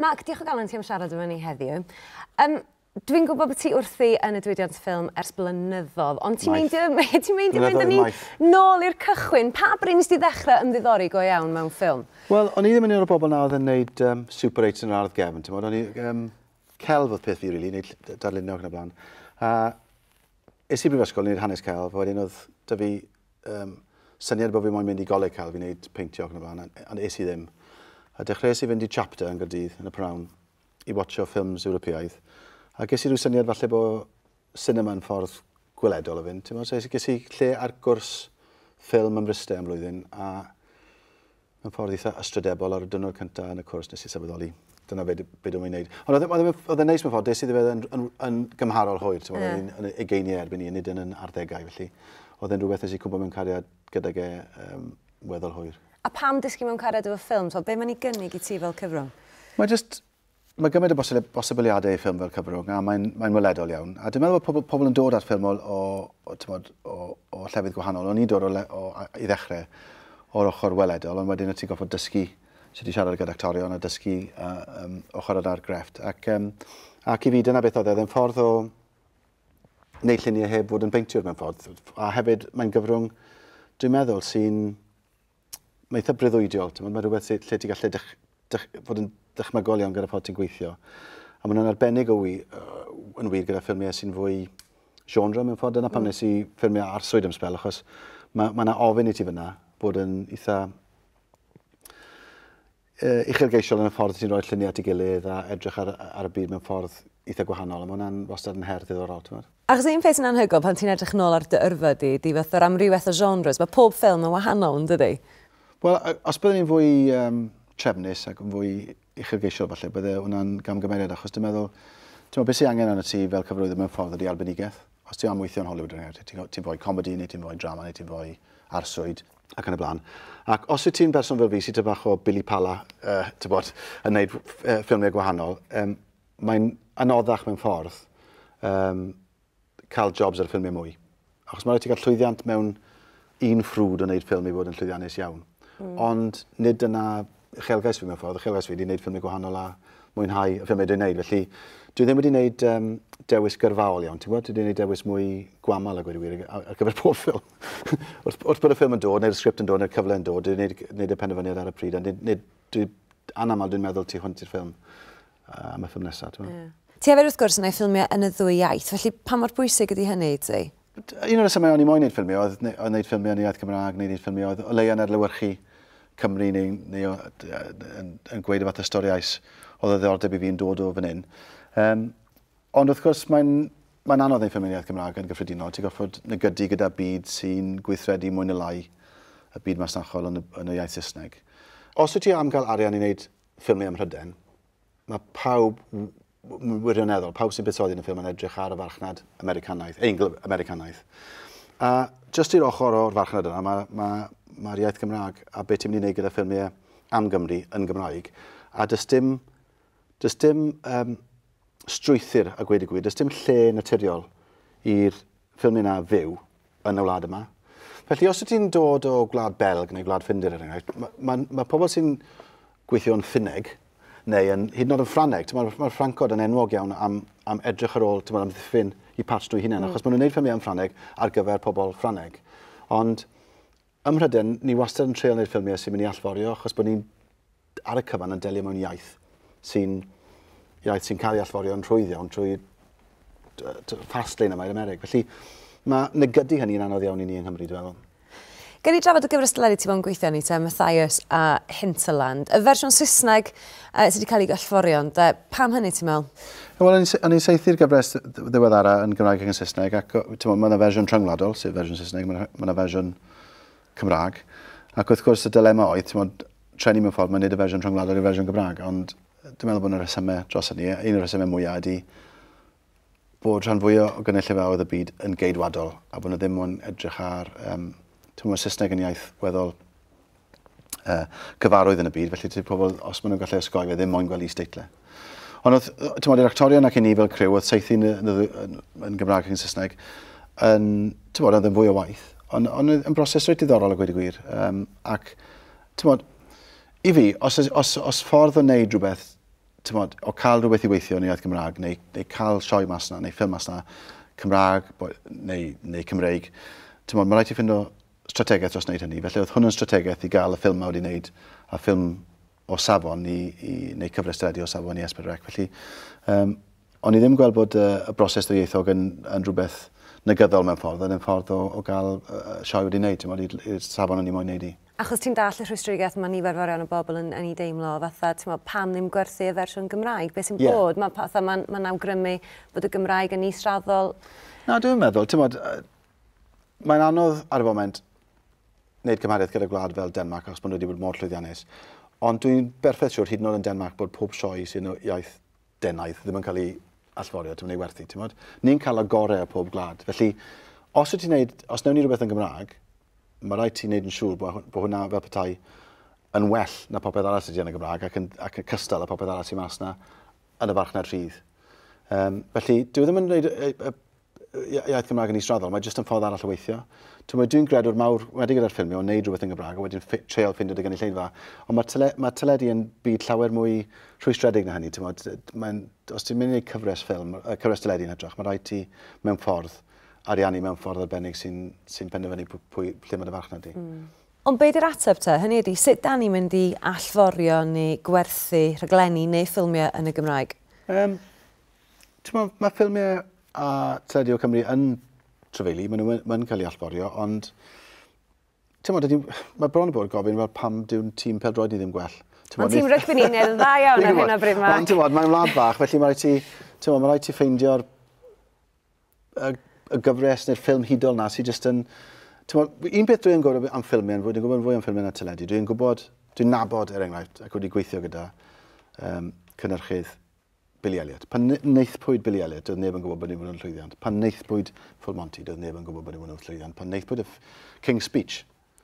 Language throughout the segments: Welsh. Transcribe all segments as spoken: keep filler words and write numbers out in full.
Mark, diolch o galon ti am siarad efo ni heddiw. Um, Dwi'n gwybod bod ti wrthi yn y diwydiant ffilm ers blynyddoedd, ond ti'n meindio, ti'n meindio mynd â ni nôl i'r cychwyn? Pa bryd nes ti ddechrau ymddiddori go iawn mewn ffilm? Wel, o'n i ddim yn un o'r bobl na oedd yn neud um, Super eight yn yr ardd gefn, ti'n O'n i, um, celf oedd peth fi, really, neud darlunio ac yn y blaen. A es i brifysgol, neud hanes celf, a wedyn oedd 'da fi um, syniad bod fi moyn mynd i goleg celf i wneud peintio ac yn y blaen, ond es i ddim. A dechreuais i fynd i Chapter yn Gaerdydd yn y prynhawn i watcho ffilms Ewropeaidd. A ges i rhyw syniad falle bod cinema yn ffordd gweledol o fynd. Ti'n so ges i lle ar gwrs ffilm ym Mryste am blwyddyn, a mewn ffordd eitha ystrydebol, ar y diwrnod cyntaf yn y cwrs nes i sylweddoli dyna be, be dwi'n mynd i wneud. Ond oedd e'n neis mewn ffordd, des i iddo yn, yn, yn gymharol hwyr, ti'n yeah. yn ugeiniau erbyn i, nid yn yn arddegau, felly oedd e'n rhywbeth nes i cwmpo mewn cariad gydag e um, weddol hwyr. A pam disgyn mewn cariad efo ffilm? So, be mae'n ei gynnig i ti fel cyfrwng? Mae just, mae gymaint o bosibiliadau i ffilm fel cyfrwng, a mae'n mae weledol iawn. A dwi'n meddwl bod pobl, pobl yn dod at ffilm o, o, o, tymod, o, o llefydd gwahanol. O'n i'n dod o, le, o, i ddechrau o'r ochr weledol, ond wedyn ti'n gorfod dysgu sut i siarad gyda actorion a dysgu uh, um, ochr yna'r grefft. Ac, um, ac i fi dyna beth oedd e, oedd e'n ffordd o wneud lluniau heb fod yn beintiwr mewn ffordd. A hefyd mae'n gyfrwng, dwi'n meddwl, sy'n mae eitha breuddwydiol. Mae rhywbeth lle ti'n gallu dych, dych, fod yn dychmygol iawn gyda ffordd ti'n gweithio. A maen nhw'n arbennig o wi, uh, yn wir gyda ffilmiau sy'n fwy genre mewn ffordd. Dyna pam mm. nes i ffilmiau arswyd am sbel, achos mae ma yna ofyn i ti fyna bod yn eitha uh, uchelgeisiol yn y ffordd ti'n rhoi lluniau at ei gilydd a edrych ar, ar y byd mewn ffordd eitha gwahanol. A mae hwnna'n wastad yn her ddiddorol, ti'n meddwl? Achos un peth sy'n anhygoel pan ti'n edrych nôl ar dy yrfa di, di fath o'r amrywiaeth o genres, mae pob ffilm yn wahanol, yn dydi? Wel, os byddwn ni'n fwy um, trefnus ac yn fwy uchelgeisiol falle, bydde hwnna'n gamgymeriad, achos dwi'n meddwl, ti'n meddwl, beth sy'n angen arno ti fel cyfarwyddwr mewn ffordd ydy arbenigedd. Os ti am weithio yn Hollywood, er ti'n ti fwy comedy, neu ti'n fwy drama, neu ti'n fwy arswyd, ac yn y blaen. Ac os wyt ti'n berson fel fi sy'n ty bach o Billy Pala, uh, ti'n bod, yn gwneud uh, ffilmiau gwahanol, um, mae'n anoddach mewn ffordd um, cael jobs ar y ffilmiau mwy. Achos mae'n rhaid ti gael llwyddiant mewn un ffrwd o wneud ffilm i fod yn llwyddiannus iawn. Mm. Ond nid dyna uchelgais fi mewn ffordd. Uchelgais fi wedi wneud ffilmiau gwahanol a mwynhau y ffilmiau dwi'n wneud. Felly dwi ddim wedi wneud um, dewis gyrfaol iawn. Ti'n gwybod? Dwi wedi wneud dewis mwy gwamal a gweud y gwir ar, ar gyfer pob ffilm. wrth, wrth bod y ffilm yn dod, neu'r sgript yn dod, neu'r cyfle yn dod, dwi'n wneud, wneud y penderfyniad ar y pryd. A nid, nid, dwi, anamal dwi'n meddwl tu hwnt i'r ffilm uh, am y ffilm nesaf. Ti'n yeah. Ti hefyd wrth gwrs yn ei ffilmiau yn y ddwy iaith, felly pa mor bwysig ydy hynny i ti? Un o'r rhesymau o'n i moyn wneud ffilmiau oedd oedd wneud ffilmiau yn iaith Cymraeg, neu wneud ffilmiau oedd o leia yn adlewyrchu Cymru neu, neu o, yn, yn gweud y fath o storiau oedd o ddiddordeb i fi'n dod o fan hyn. Um, ond wrth gwrs mae'n mae'n anodd wneud ffilmiau yn iaith Cymraeg yn gyffredinol. Ti'n gorfod negydu gyda byd sy'n gweithredu mwy neu lai y byd masnachol yn y, yn y iaith Saesneg. Os wyt ti am gael arian i wneud ffilmiau ym Mhrydain, mae pawb wirioneddol, pawb sy'n buddsoddi yn y ffilm yn edrych ar y farchnad Americanaidd, Eingl-Americanaidd. A jyst i'r ochr o'r farchnad yna, mae'r ma, ma iaith Gymraeg a beth ti'n mynd i wneud gyda ffilmiau am Gymru yn Gymraeg. A does dim, does dim um, strwythur a gweud y gwir, does dim lle naturiol i'r ffilmiau yna fyw yn y wlad yma. Felly os wyt ti'n dod o Gwlad Belg neu Gwlad Ffindir, er enghraifft, mae ma, ma pobl sy'n gweithio yn Ffinneg, neu yn, hyd yn oed yn Ffrangeg, mae'r ma Ffrancod yn enwog iawn am, am edrych ar ôl, ti'n am ddiffyn i patch nhw hunain, mm. achos maen nhw'n gwneud ffilmiau yn Ffrangeg ar gyfer pobl Ffrangeg. Ond ym Mhrydain, ni wastad yn treial wneud ffilmiau sy'n mynd i allforio, achos bod ni'n ar y cyfan yn delio mewn iaith sy'n iaith sy'n cael ei allforio yn rhwydd iawn trwy fast lane yma i'r Amerig. Felly mae negydu hynny'n anodd iawn i ni yng Nghymru, dwi'n meddwl. Gen i drafod y gyfres deledu ti bod yn gweithio ni te, Mathias a Hinterland. Y fersiwn Saesneg uh, sydd wedi cael ei allforio, ond uh, pam hynny ti'n meddwl? Wel, o'n i'n saethu'r gyfres ddiweddara yn Gymraeg ac yn Saesneg, ac mae yna fersiwn rhyngwladol, sef fersiwn Saesneg, mae yna fersiwn Cymraeg. Ac wrth gwrs y dilema oedd, ti'n meddwl, treni mewn ffordd, mae'n neud y fersiwn rhyngwladol i'r fersiwn Gymraeg, ond dwi'n meddwl bod yna rhesymau dros hynny. Un o'r rhesymau mwyaf ydy bod rhan fwyaf o gynulleidfaoedd y byd yn geidwadol, a bod nhw ddim yn edrych ar... Um, Ti'n meddwl, Saesneg yn iaith weddol uh, cyfarwydd yn y byd, felly ti'n pobl, os maen nhw'n gallu osgoi fe, ddim moyn gweld is-deitlau. Ond oedd, ti'n meddwl, i'r actorion ac i ni fel criw, oedd saethu yn, yn, yn, yn Gymraeg ac yn Saesneg, yn, ti'n meddwl, oedd yn fwy o waith, ond on, yn broses reit diddorol a gweud y gwir. Um, ac, ti'n meddwl, i fi, os, os, os ffordd o wneud rhywbeth mod, o cael rhywbeth i weithio yn iaith Gymraeg, neu, neu cael sioe mas na, neu ffilm mas na, Cymraeg neu, neu Cymreig, mod, mae rhaid ti ffindo strategaeth dros wneud hynny. Felly oedd hwn yn strategaeth i gael y ffilm ma wedi wneud, a ffilm o safon i, i, neu cyfres teledu o safon i S pedwar C. Felly, um, o'n i ddim gweld bod y, y broses ddwyieithog yn, yn rhywbeth negyddol mewn ffordd, yn ffordd o, o gael uh, sioe wedi wneud, ti'n modd, i'r safon o'n i moyn wneud i. Achos ti'n dall y rhwystredigaeth mae nifer fawr iawn o bobl yn, yn ei deimlo, fatha, ti'n meddwl, pam ddim gwerthu y fersiwn Gymraeg? Beth sy'n yeah. bod? Mae'n fatha, mae'n ma awgrymu bod y Gymraeg yn israddol. Na, dwi'n meddwl, ti'n modd, mae'n anodd ar y foment wneud cymhariaeth gyda gwlad fel Denmark, achos bod nhw wedi bod mor llwyddiannus. Ond dwi'n berffaith siŵr, hyd yn oed yn Denmark, bod pob sioe sy'n iaith Denaidd ddim yn cael ei allforio, ti'n mynd ei werthu, ti'n modd? Ni'n cael y gorau o pob gwlad. Felly, os wyt ti'n neud, os newn ni rhywbeth yn Gymraeg, mae rhaid ti'n neud yn siŵr bod, bod hwnna fel petai yn well na popeth arall sydd yn y Gymraeg ac yn, ac yn cystal â popeth arall sy'n mas na yn y farchnad rhydd. Um, felly, dwi ddim yn gwneud y, y, y, iaith Gymraeg yn israddol, mae jyst yn ffordd arall o weithio. Dwi'n gredwr mawr, wedi gyda'r ffilmio, o wneud rhywbeth yn Gymraeg, a wedyn treial ffindio dy gynulleidfa. Ond mae, tele, mae teledu yn byd llawer mwy rhwystredig na hynny. Mae'n, os ti'n mynd i wneud cyfres ffilm, cyfres teledu yn hytrach, mae rhaid ti mewn ffordd ariannu mewn ffordd arbennig sy'n sy penderfynu pwy, pwy, lle mae dy farchnad di. Mm. Ond be di'r ateb te? Hynny ydi, sut da ni'n mynd i allforio neu gwerthu rhaglenni neu ffilmiau yn y Gymraeg? Um, mae, mae ffilmiau a teledu o Cymru yn trafeili, maen nhw'n ma cael ei allforio, ond mod, mae bron o bod gofyn fel pam dyw'n tîm pêl-droed ni ddim gwell. Ond tîm rygbi ni'n neud yn dda iawn ar hyn o bryd, Mark. Ond ti'n mae'n wlad bach, felly mae rhaid ti, ti'n mae rhaid ti ffeindio'r y, y gyfres neu'r ffilm hudol na sy'n jyst yn... Mod, un peth dwi'n gwybod am ffilmiau, dwi'n gwybod fwy am ffilmiau na teledu, dwi'n gwybod, dwi'n nabod er enghraifft, ac wedi gweithio gyda um, cynhyrchydd Billy Elliot. Pan wnaethpwyd Billy Elliot, doedd neb yn gwybod bod ni'n bod yn llwyddiant. Pan wnaethpwyd Full Monty, doedd neb yn gwybod bod ni'n bod yn llwyddiant. Pan wnaethpwyd y King's Speech,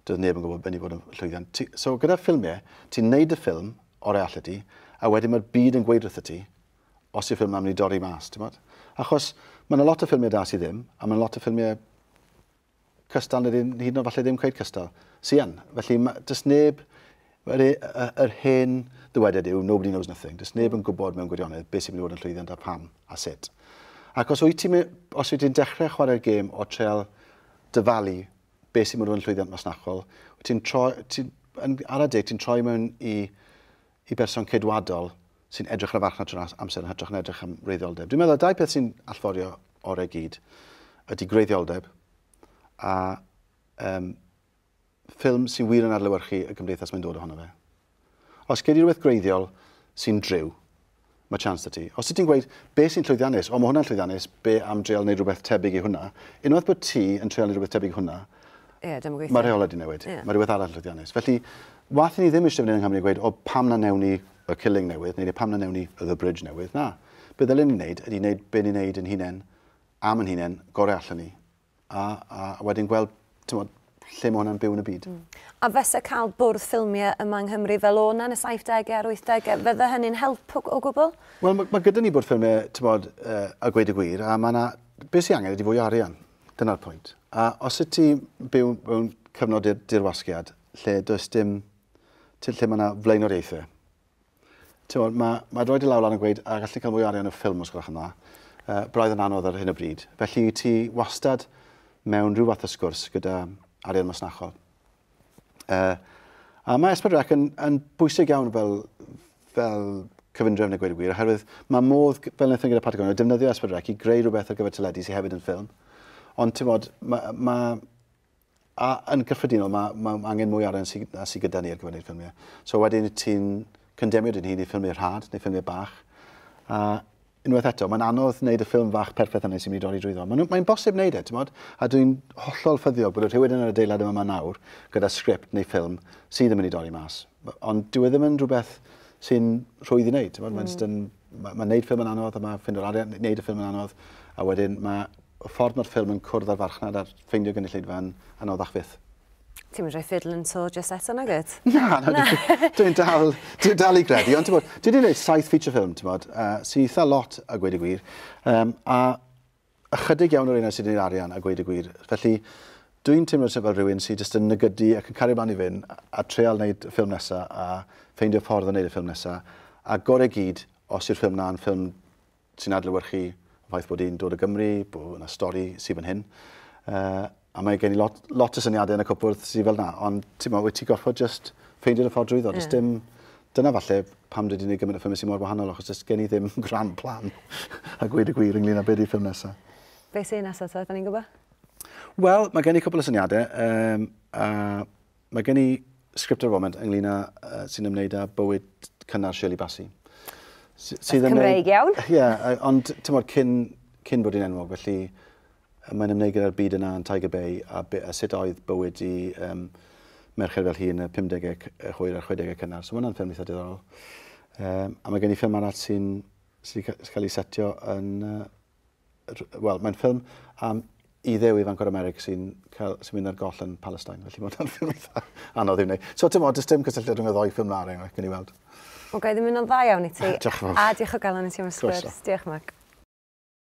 doedd neb yn gwybod bod ni'n bod yn llwyddiant. Ti, so gyda ffilmiau, ti'n neud y ffilm o'r allu ti, a wedyn mae'r byd yn gweud wrtho ti, os yw'r ffilm am mynd i dorri mas, ti'n bod? Achos mae yna lot o ffilmiau da sydd ddim, a mae yna lot o ffilmiau cystal, neu hyd yn oed falle ddim cweit cystal, sy yn. Felly, ma, does neb, yr, yr hen ddywediad yw, nobody knows nothing. Does neb yn gwybod mewn gwirionedd beth sy'n mynd i fod yn llwyddiant a pam a sut. Ac os wyt ti'n os wyt ti'n dechrau chwarae'r gêm o treol dyfalu beth sy'n mynd i fod yn llwyddiant masnachol, wyt ti'n troi, ti'n, yn, ar adeg ti'n troi mewn i, i berson ceidwadol sy'n edrych ar y farchnad trwy'r amser yn hytrach yn edrych am wreiddioldeb. Dwi'n meddwl dau peth sy'n allforio orau gyd ydy gwreiddioldeb a um, ffilm sy'n wir yn adlewyrchu y gymdeithas mae'n dod ohono fe. Os gei di rhywbeth gwreiddiol sy'n driw, mae chance 'da ti. Os ti'n gweud, be sy'n llwyddiannus, o mae hwnna'n llwyddiannus, be am dreial wneud rhywbeth tebyg i hwnna, unwaith bod ti yn treial wneud rhywbeth tebyg i hwnna, yeah, mae rheolau wedi newid, yeah. Mae rhywbeth arall llwyddiannus. Felly, wath i ni ddim eisiau fynd yng Nghymru gweud, o pam na newn ni y Killing newydd, neu pam na newn ni y The Bridge newydd, na. Be ddylen ni wneud ydy wneud be ni'n wneud yn hunain, am yn hunain, gorau allan ni, a, a wedyn gweld, ti'n lle mae hwnna'n byw yn y byd. Mm. A fysa cael bwrdd ffilmiau yma yng Nghymru fel o'na yn y saithdegau a'r wythdegau, fydde hynny'n help o, o gwbl? Wel, mae, mae gyda ni bwrdd ffilmiau, ti'n bod, uh, a gweud y gwir, a mae yna, beth sy'n angen ydy fwy o arian. Dyna'r pwynt. A os y ti byw mewn cyfnod dirwasgiad, lle does dim, lle mae yna flaenoriaethau, ti'n bod, mae, mae rhoi dy law lan yn gweud, a gallu cael mwy o arian y ffilm os gwelwch yn dda, uh, braidd yn anodd ar hyn o bryd. Felly ti wastad mewn rhyw fath o sgwrs gyda arian masnachol. Uh, a mae S pedwar C yn, yn bwysig iawn fel, fel cyfundrefn a gweud y gwir, oherwydd mae modd, fel wnaethon gyda Patagonia, defnyddio S pedwar C i greu rhywbeth ar gyfer teledu sydd hefyd yn ffilm. Ond ti'n bod, mae, ma, a yn gyffredinol, mae, ma angen mwy arian sy, na sydd gyda ni ar gyfer wneud ffilmiau. So wedyn ti'n condemio dyn hun i ffilmiau rhad neu ffilmiau bach. A unwaith eto, mae'n anodd wneud y ffilm fach perffaith yna sy'n mynd i dorri drwyddo. Mae'n mae bosib wneud e, ti'n bod? A dwi'n hollol ffyddiog bod rhywun yn yr adeilad yma nawr gyda sgript neu ffilm sydd yn mynd i dorri mas. Ond dyw e ddim yn rhywbeth sy'n rhwydd i wneud, ti'n bod? Mae'n mm. Mae ma wneud ffilm yn anodd, a mae ffindo'r arian, wneud y ffilm yn anodd, a wedyn mae y ffordd mae'r ffilm yn cwrdd â'r farchnad a'r ffeindio gynulleidfa yn anoddach fyth. Ti'n mynd rhoi fiddle yn to just eto, nag wyt? Na, na, dwi'n dal, dwi'n dal i gredu, ond ti'n bod, dwi wedi gwneud saith feature film, ti'n bod, uh, sy'n eitha lot a gweud y gwir, um, a ychydig iawn o'r un sydd wedi arian a gweud y gwir. Felly, dwi'n teimlo fel rhywun sydd jyst yn negydu ac yn cario mlaen i fynd a treial wneud y ffilm nesaf a ffeindio ffordd o wneud y ffilm nesaf, a gorau gyd, Os yw'r ffilm na'n ffilm sy'n adlewyrchu y ffaith bod hi'n dod o Gymru, bod yna stori sydd fan hyn. Uh, a mae gen i lot, lot o syniadau yn y cwpwrdd sydd fel na, ond ti'n mo, wyt ti gorfod just ffeindio'r ffordd drwyddo. Yeah. Dim, dyna falle pam dwi wedi gwneud gymaint o ffilmau sy'n mor wahanol, achos does gen i ddim grand plan a gweud y gwir ynglyn â beth yw'r ffilm nesaf. Be sy'n nesaf, ta, da ni'n gwybod? Wel, mae gen i cwpl o syniadau. Um, a mae gen i sgript ar y foment ynglyn â uh, sy'n ymwneud â bywyd cynnar Shirley Bassey. Sydd yn Cymreig iawn. Ie, yeah, ond ti'n modd, cyn, cyn bod hi'n enwog, felly mae'n ymwneud gyda'r byd yna yn Tiger Bay a, a sut oedd bywyd i um, merched fel hi yn y pumdegau hwyr a'r chwedegau cynnar. So mae hwnna'n ffilm eitha diddorol. Um, a mae gen i ffilm arall sy'n sy cael ei setio yn... Uh, Wel, mae'n ffilm am iddew ifanc o'r America sy'n sy mynd ar goll yn Palestine. Felly mae hwnna'n ffilm eitha anodd i'w wneud. So ti'n modd, does dim cysylltiad rhwng y ddou ffilm na, er enghraifft, gen i weld. Wel, ga i ddymuno'n dda iawn i ti. Diolch yn fawr. A diolch o galon i ti am y sgwrs. Diolch, Mark.